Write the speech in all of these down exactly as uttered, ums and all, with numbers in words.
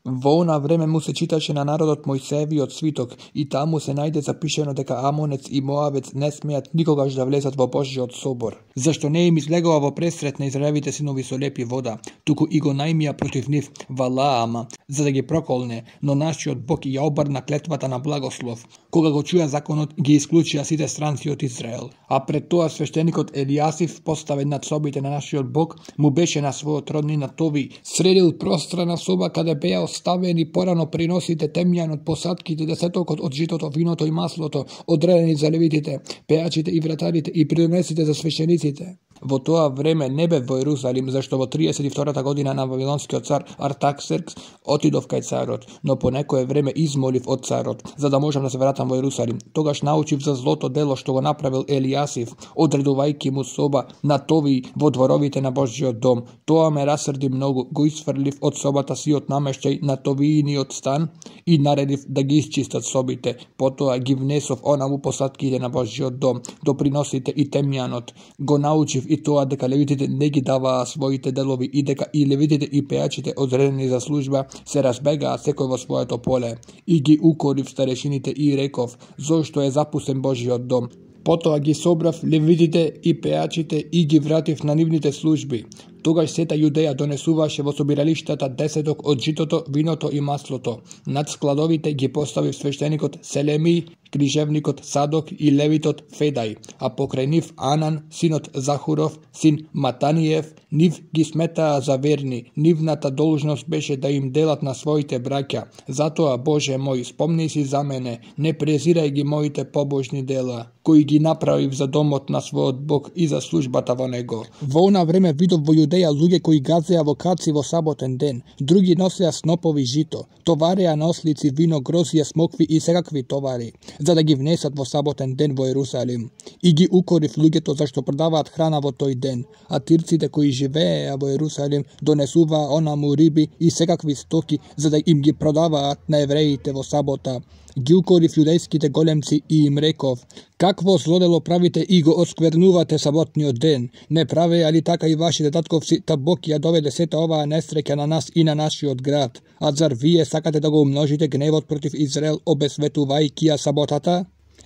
Во она време му се читаше на народот Мојсеевиот свиток и таму се најде запишено дека Амонец и Моавец не смеат никогаш да влезат во Божјиот собор, зашто не им излегува во пресрет на Израелевите синови со лепи вода, туку и го најмија против нив Валаама, за да ги проколне, но нашиот Бог ја обрна клетвата на благослов. Кога го чуја законот, ги исклучија сите странци од Израел. А пред тоа свештеникот Елијасив, поставен над собите на нашиот Бог, му беше на својот роднина Тови, средил пространа соба каде беа оставени порано приносите, темјанот, посадките, десетокот од житото, виното и маслото, одредени за левитите, пеачите и вратарите и придонесите за свештениците. Во тоа време не бев во Ерусалим, зашто во триесет и втората година на Вавилонскиот цар Артаксеркс отидов кај царот, но по некое време измолив од царот, за да можам да се вратам во Ерусалим. Тогаш научив за злото дело што го направил Елијасив, одредувајќи му соба на Тови во дворовите на Божјиот дом. Тоа ме расрди многу, го исфрлив од собата си од намештај на Товииниот стан и наредив да ги исчистат собите. Потоа ги внесов онаму посадките на Божјиот дом, доприносите и темјанот. Го научив и тоа дека левитите не ги даваа своите делови и дека и левитите и пеачите одредени за служба се разбегаа секој во своето поле. И ги укорив старешините и реков, зошто е запустен Божјиот дом. Потоа ги собрав левитите и пеачите и ги вратив на нивните служби. Тогаш сета Јудеја донесуваше во собиралиштата десеток од житото, виното и маслото. Над складовите ги поставив свештеникот Селеми, книжевникот Садок и левитот Федај, а покрај нив Анан, синот Захуров, син Матаниев, нив ги сметаа за верни. Нивната должност беше да им делат на своите браќа. Затоа, Боже мој, спомни си за мене, не презирај ги моите побожни дела, кои ги направив за домот на својот Бог и за службата во него. Во она време видов во Јудеја луѓе кои газеа во каци во саботен ден, други носеа снопови жито, товареа на ослици вино, грозија, смокви и секакви товари, за да ги внесат во саботен ден во Ерусалим. И ги укорив луѓето зашто продаваат храна во тој ден, а тирците кои живееа во Ерусалим донесуваа онаму риби и секакви стоки за да им ги продаваат на евреите во сабота. Ги укорив јудејските големци и им реков: какво злодело правите и го осквернувате саботниот ден? Не правеа ли така и вашите татковци, та Бог ја доведе сета оваа несреќа на нас и на нашиот град? А зар вие сакате да го умножите гневот против Израел, обесветувајќи ја саботата?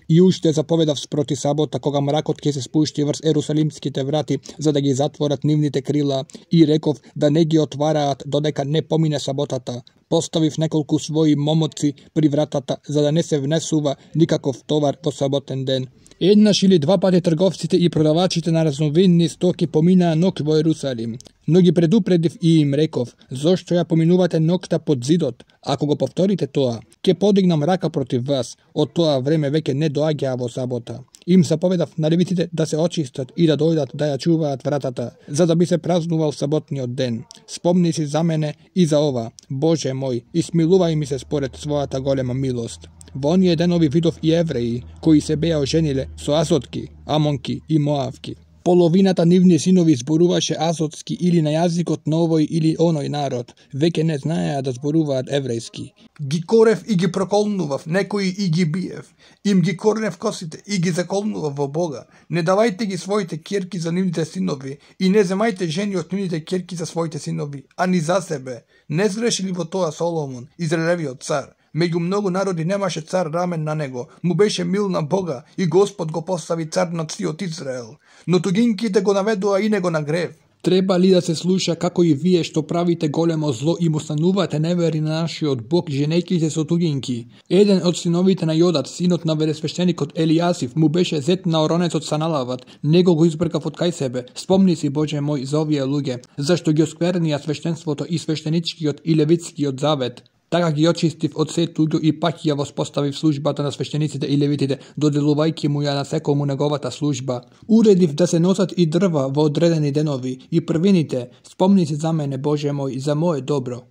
И уште заповедав спроти сабота, кога мракот ќе се спушти врз ерусалимските врати, за да ги затворат нивните крила, и реков да не ги отвараат додека не помине саботата. Поставив неколку своји момоци при вратата, за да не се внесува никаков товар во саботен ден. Еднаш или два пати трговците и продавачите на разновидни стоки поминаа ног во Ерусалим. Но ги предупредив и им реков: зошто ја поминувате ногта под зидот? Ако го повторите тоа, ќе подигнам рака против вас. Од тоа време веќе не доаѓаа во сабота. Им заповедав на левитите да се очистат и да дојдат да ја чуваат вратата, за да би се празнувал саботниот ден. Спомни си за мене и за ова, Боже мој, и смилувај ми се според својата голема милост. Во оние денови видов и евреи, кои се беа ожениле со азотки, амонки и моавки. Половината нивни синови зборуваше азотски или на јазикот на овој или оној народ, веќе не знаеа да зборуваат еврејски. Ги корев и ги проколнував, некои и ги биев. Им ги корнев косите и ги заколнував во Бога. Не давајте ги своите ќерки за нивните синови и не земајте жени од нивните ќерки за своите синови, а ни за себе. Не згреши ли во тоа Соломон, Израелевиот цар? Меѓу многу народи немаше цар рамен на него, му беше мил на Бога и Господ го постави цар над сиот Израел. Но тугинките го наведоа и него на грев. Треба ли да се слуша како и вие што правите големо зло и му станувате невери на нашиот Бог, женејќи се со тугинки? Еден од синовите на Јодат, синот на велесвештеникот Елијасив, му беше зет на оронецот Саналават, него го избркав од кај себе. Спомни си, Боже мој, за овие луѓе, зашто ги осквернија свештенството и свештеничкиот и левитскиот завет. Така ги очистив од се туѓо и пак ја воспоставив службата на свештениците и левитите, доделувајќи му ја на секому неговата служба. Уредив да се носат и дрва во одредени денови и првините. Спомни се за мене, Боже мој, за моје добро.